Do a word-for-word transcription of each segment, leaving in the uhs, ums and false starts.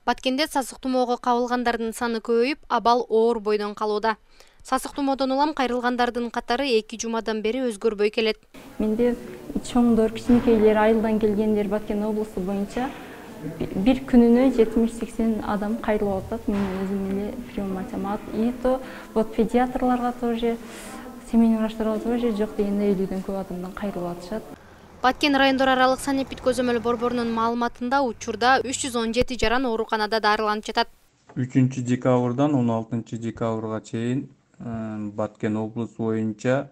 Баткенде сасык тумоого кабылгандардын саны көбөйүп, абал оор бойдон калууда. Сасык тумоодон улам кайрылгандардын катары эки жумадан бери өзгөрбөй келет. Менде чоңдор, кичинекейлер, айылдан келгендер Баткен облусу боюнча бир күнүнө жетимиш сексен адам кайрылып атат. Мен өзүм эле прием ачам. И то вот педиатрларга тоже, семейный врачтарга тоже жок дегенде элүүдөн көп адамдан кайрылып атышат. Баткен райондор аралык санепид көзөмөл борборунун маалыматында учурда үч жүз он жети жаран ооруканада дарыланып жатат. үчүнчү декабрдан он алтынчы декабрга чейин Баткен облусу боюнча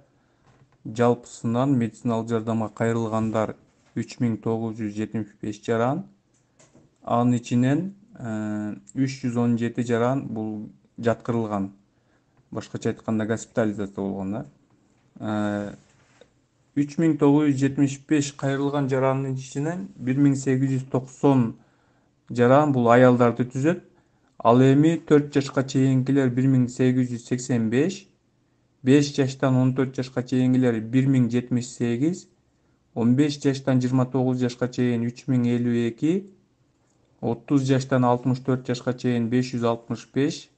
жалпысынан медициналык жардамга кайрылгандар үч миң тогуз жүз жетимиш беш жаран. Анын ичинен үч жүз он жети жаран бул жаткырылган. Башкача айтканда госпитализация болгон. үч миң тогуз жүз жетимиш беш кайрылган жарандын ичинен бир миң сегиз жүз токсон жаран бул аялдарды түзөт. Ал эми төрт жашка чейинкилер бир миң сегиз жүз сексен беш, беш жаштан он төрт жашка чейинкилер бир миң жетимиш сегиз, он беш жаштан жыйырма тогуз жашка чейин үч миң элүү эки, отуз жаштан алтымыш төрт жашка чейин беш жүз алтымыш беш,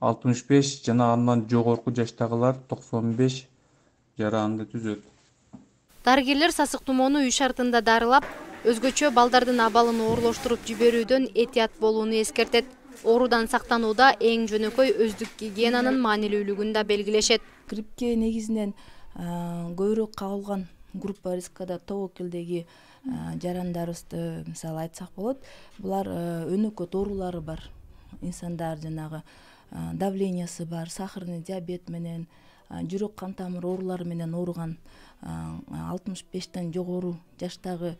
алтымыш беш жана андан жогорку жаштагылар токсон беш жаранды түзөт. Дарыгерлер сасык тумоону үй шартында дарылап, өзгөчө балдардын абалын оорлоштуруп жиберүүдөн этият болууну эскертет. Оорудан сактанууда эң жөнөкөй өздүк гигиенанын маанилүүлүгүн да белгилешет. Гриппке негизинен көбүрөөк кабылган группа рискада тобокелдеги жарандарыбызды мисалы айтсак болот. Булар өнөкөт оорулары бар. Инсандар жанагы давлениясы бар, сахарный диабет менен, жүрөк кан тамыр оорулары менен ооруган алтымыш бештен жогору жаштагы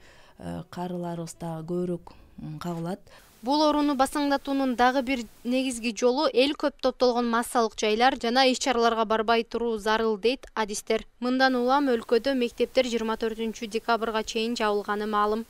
карыларыбыз дагы көбүрөөк кабылат. Бул ооруну басаңдатуунун дагы бир негизги жолу эл көп топтолгон массалык жайлар жана иш-чараларга барбай туруу зарыл дейт адистер. Мындан улам өлкөдө мектептер жыйырма төртүнчү декабрга чейин жабылганы маалым.